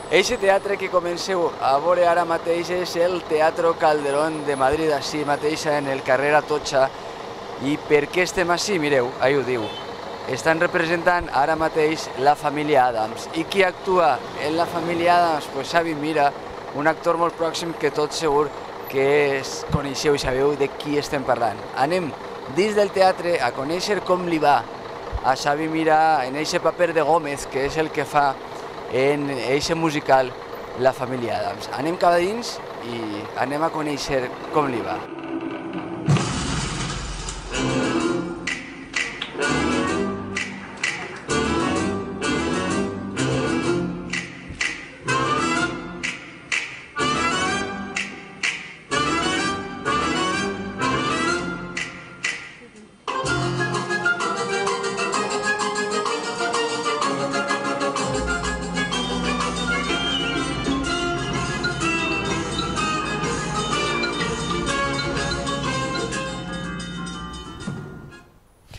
Eixe teatre que comenceu a veure ara mateix és el Teatro Calderón de Madrid, així mateix en el carrer Atocha. I per què estem així? Mireu, ahí ho diu. Estan representant ara mateix la família Adams. I qui actua en la família Adams? Pues Xavi Mira, un actor molt pròxim que tot segur que coneixeu i sabeu de qui estem parlant. Anem dins del teatre a conèixer com li va a Xavi Mira en eixe paper de Gómez, que és el que fa en eixe musical La família Adams. Anem cap a dins i anem a conèixer com li va.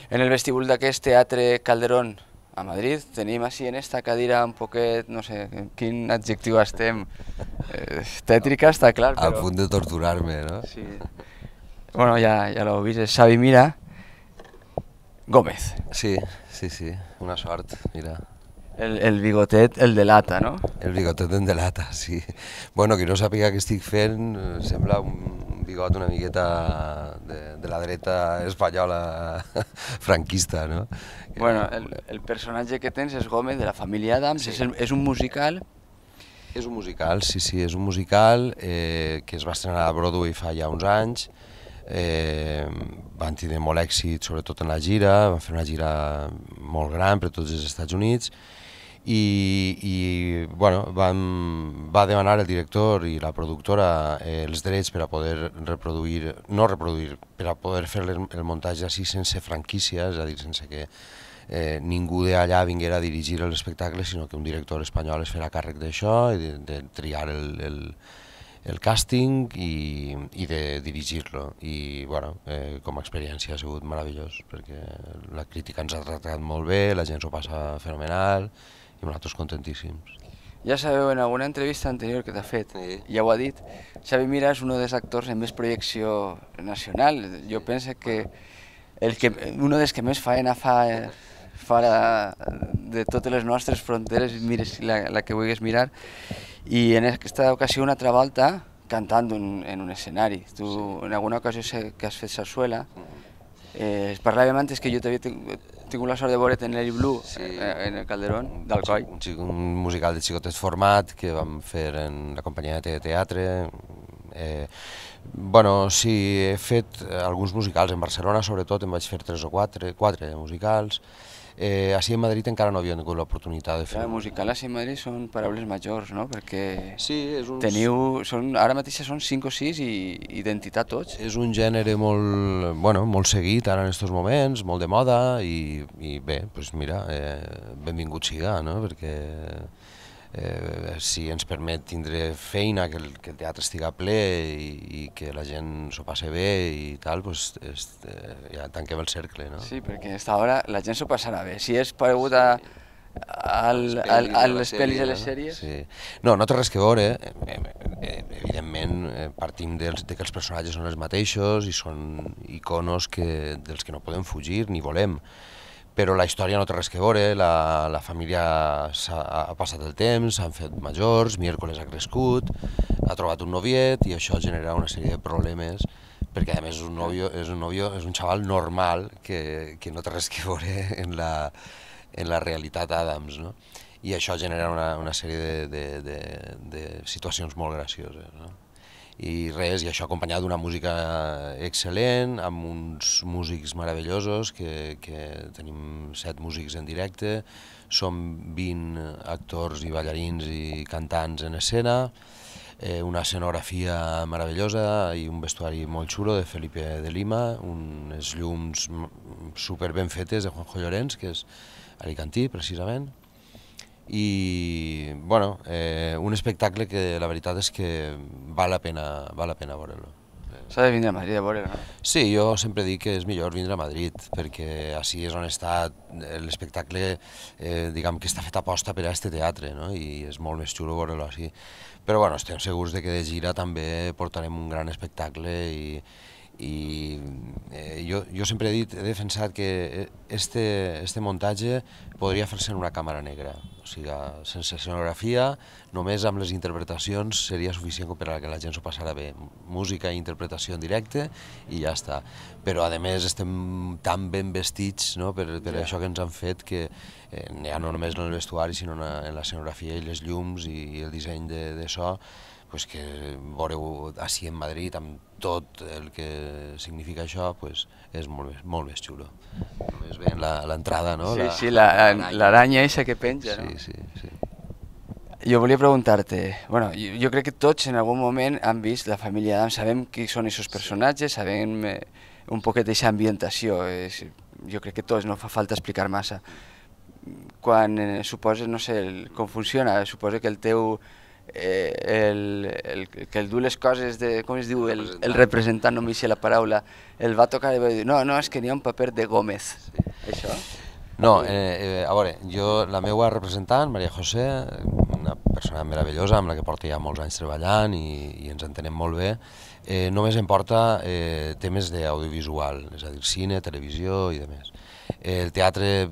En el vestíbul d'aquest Teatre Calderón a Madrid tenim així en esta cadira un poquet, no sé, quin adjectiu estem, tètrica està clar, però... A punt de torturar-me, no? Sí. Bueno, ja l'heu vist, és Xavi Mira Gómez. Sí, una sort, mira. El bigotet el delata, no? El bigotet en delata, sí. Bueno, qui no sàpiga què estic fent, sembla un bigot una miqueta de la dreta espanyola franquista, no? Bueno, el personatge que tens és Gómez, de la família Adams, sí. És un musical? És un musical, sí, és un musical que es va estrenar a Broadway fa ja uns anys. Van tenir molt èxit, sobretot en la gira, van fer una gira molt gran per tots els Estats Units i bueno, va demanar el director i la productora els drets per a poder reproduir, no reproduir, per a poder fer el muntatge així sense franquícia, és a dir, sense que ningú d'allà vinguera a dirigir l'espectacle, sinó que un director espanyol es farà càrrec d'això i de triar el càsting i de dirigir-lo. I bueno, com a experiència ha sigut meravellós, perquè la crítica ens ha tractat molt bé, la gent s'ho passa fenomenal i nosaltres contentíssims. Ja sabeu, en alguna entrevista anterior que t'ha fet, ja ho ha dit, Xavi Mira és un dels actors amb més projecció nacional. Jo penso que un dels que més faena fa de totes les nostres fronteres, mires la que vulguis mirar, i en aquesta ocasió una altra volta cantant en un escenari. Tu en alguna ocasió sé que has fet sarsuela. Parlàvem antes que jo t'havia tingut la sort de veure't en l'Eri Blu, en el Calderón d'Alcoi. Un musical de xicotet format que vam fer en la companyia de teatre. Bueno, sí, he fet alguns musicals. En Barcelona, sobretot, em vaig fer 3 o 4 musicals. Així en Madrid encara no havia tingut l'oportunitat de fer... El musical així en Madrid són paraules majors, no? Perquè teniu... Ara mateix són 5 o 6 i d'entitat tots. És un gènere molt seguit ara en aquests moments, molt de moda i bé, doncs mira, benvingut siga, no? Perquè si ens permet tindre feina, que el teatre estiga ple i que la gent s'ho passe bé i tal, doncs ja tanquem el cercle, no? Sí, perquè a aquesta hora la gent s'ho passarà bé. Si és paregut a les pel·lis i les sèries... No, no té res que veure. Evidentment partim que els personatges són els mateixos i són iconos dels que no podem fugir ni volem. Però la història no té res que veure, la família ha passat el temps, s'han fet majors, Miércoles ha crescut, ha trobat un noviet i això genera una sèrie de problemes, perquè a més és un xaval normal que no té res que veure en la realitat Adams, no? I això genera una sèrie de situacions molt gracioses, no? I res, i això acompanyat d'una música excel·lent, amb uns músics meravellosos, que tenim 7 músics en directe, som 20 actors i ballarins i cantants en escena, una escenografia meravellosa i un vestuari molt xulo de Felipe de Lima, unes llums super ben fetes de Juanjo Llorens, que és alicantí precisament. I bueno, un espectacle que la veritat és que val la pena veure-lo. S'ha de vindre a Madrid a veure, no? Sí, jo sempre dic que és millor vindre a Madrid, perquè així és on està l'espectacle, diguem que està fet aposta per a este teatre, no? I és molt més xulo veure-lo així. Però bueno, estem segurs de que de gira també portarem un gran espectacle i jo sempre he defensat que este muntatge podria fer-se en una càmera negra, o sigui, sense escenografia, només amb les interpretacions seria suficient per a que la gent s'ho passara bé, música i interpretació en directe i ja està. Però a més estem tan ben vestits, no? per això que ens han fet que ja no només en el vestuari sinó en l'escenografia i les llums i el disseny de so, pues que veureu així en Madrid amb tot el que significa això, pues és molt més xulo. Només veient l'entrada, no? Sí, l'aranya eixa que penja, no? Sí. Jo volia preguntar-te, bueno, jo crec que tots en algun moment han vist La família Adams, sabem qui són aquests personatges, sabem un poquet d'aquesta ambientació, jo crec que tots, no fa falta explicar massa. Quan suposes, no sé, com funciona, suposa que el teu que el du les coses de, com es diu, el representant, no m'hi sé la paraula, el va tocar i va dir, no, és que n'hi ha un paper de Gómez, això? No, a veure, la meva representant, Maria José, una persona meravellosa amb la que porto ja molts anys treballant i ens entenem molt bé, només em porta temes d'audiovisual, és a dir, cine, televisió i demés. El teatre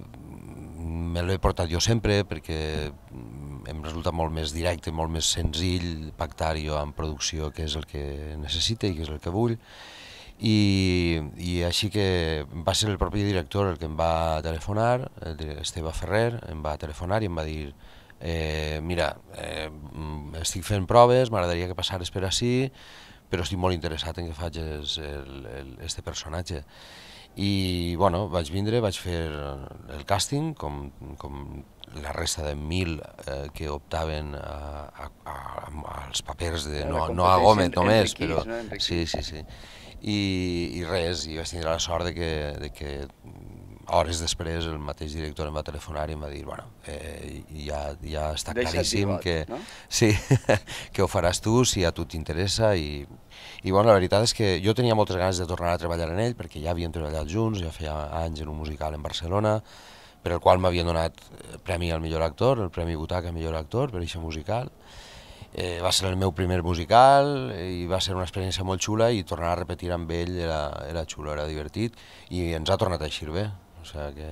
me l'he portat jo sempre perquè em resulta molt més directe, molt més senzill pactar-ho amb producció, que és el que necessita i que és el que vull. I així que va ser el propi director el que em va telefonar, Esteve Ferrer, em va telefonar i em va dir mira, estic fent proves, m'agradaria que passares per ací, però estic molt interessat en que facis este personatge. I bueno, vaig vindre, vaig fer el càsting, com la resta de 1.000 que optaven als papers, no a Gómez només, però sí. I res, i vaig tenir la sort de que hores després el mateix director em va telefonar i em va dir, bueno, ja està claríssim que sí, que ho faràs tu si a tu t'interessa i bueno, la veritat és que jo tenia moltes ganes de tornar a treballar en ell perquè ja havíem treballat junts, ja feia anys en un musical en Barcelona per el qual m'havien donat el Premi al millor actor, el Premi Butaca al millor actor per aquest musical. Va ser el meu primer musical i va ser una experiència molt xula i tornar a repetir amb ell era xulo, era divertit i ens ha tornat a eixir bé. O sigui que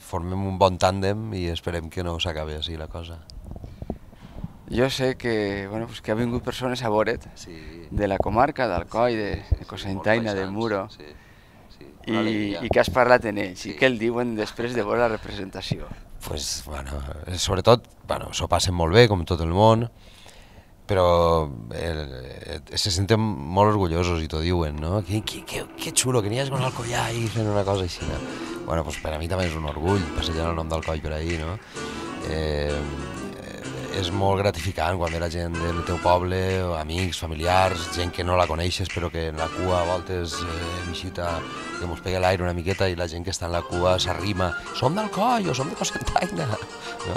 formem un bon tàndem i esperem que no s'acabi així la cosa. Jo sé que, bueno, pues que ha vingut persones a veure't de la comarca, d'Alcoi, de Cocentaina, de Muro, i que has parlat en ells i què el diuen després de veure la representació. Pues, bueno, sobretot, bueno, s'ho passen molt bé, com tot el món, però se senten molt orgullosos i t'ho diuen, no? Que xulo, que n'hi hagi con Alcoyà i fent una cosa així. Bueno, pues per a mi també és un orgull passejant el nom d'Alcoi per ahí, no? És molt gratificant quan ve la gent del teu poble, amics, familiars, gent que no la coneixes però que en la cua a voltes visita, que mos pega l'aire una miqueta i la gent que està en la cua s'arrima, som d'Alcoi o som de Cocentaina. No?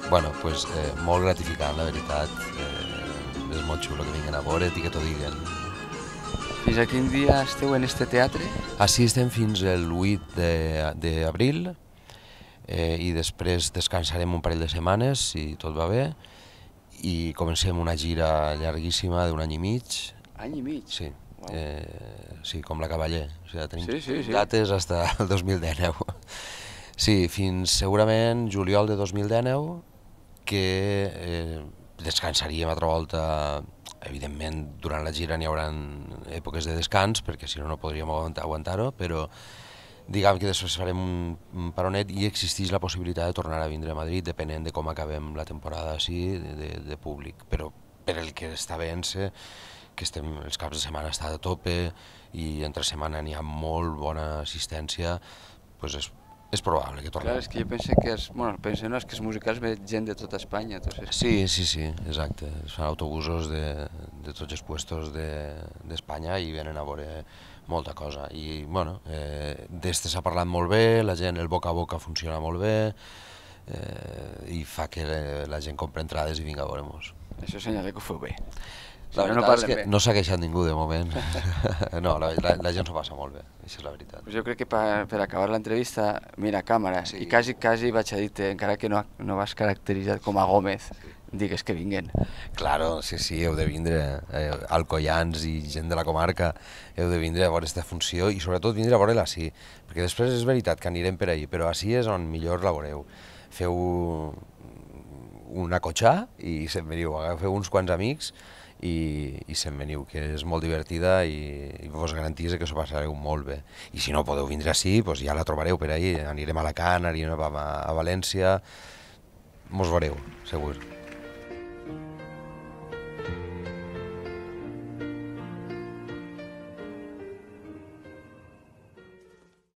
Bueno, pues molt gratificant, la veritat. És molt xulo que vinguen a veure't i que t'ho diguen. Fins a quin dia esteu en este teatre? Així estem fins el 8 d'abril i després descansarem un parell de setmanes si tot va bé i comencem una gira llarguíssima d'un any i mig. Any i mig? Sí, sí, com la Cavaller. O sigui, tenim dates fins al 2019. Sí, fins segurament juliol de 2019 que descansaríem altra volta. Evidentment, durant la gira n'hi haurà èpoques de descans, perquè si no, no podríem aguantar-ho, però diguem que després farem un paronet i existeix la possibilitat de tornar a vindre a Madrid, depenent de com acabem la temporada així, de públic. Però per el que està veient-se, que els caps de setmana està a tope i entre setmana n'hi ha molt bona assistència, doncs és probable que tornem. Clar, és que jo penso que els musicals ve gent de tota Espanya. Sí, exacte. Es fan autobusos de tots els puestos d'Espanya i venen a veure molta cosa. I, bueno, d'este s'ha parlat molt bé, la gent, el boca a boca funciona molt bé i fa que la gent compri entrades i vinga a veure-nos. Això senyala que ho feu bé. Si no, no veritat és parlem que bé. no s'ha queixat ningú de moment. No, la gent s'ho passa molt bé, això és la veritat. Pues jo crec que per acabar l'entrevista, mira, càmera, Sí. i quasi vaig a dir-te, encara que no vas caracteritzat com a Gómez, digues que vinguen. Claro, sí, heu de vindre, alcoians i gent de la comarca, heu de vindre a veure aquesta funció i sobretot vindre a veure-la així, perquè després és veritat que anirem per ahí, però així és on millor la veureu. Feu una cotxà i se'n veniu, agafeu uns quants amics i se'n veniu, que és molt divertida i vos garantís que s'ho passareu molt bé. I si no podeu vindre així, doncs ja la trobareu per ahí, anirem a Alacant, anirem a València, mos veureu, segur.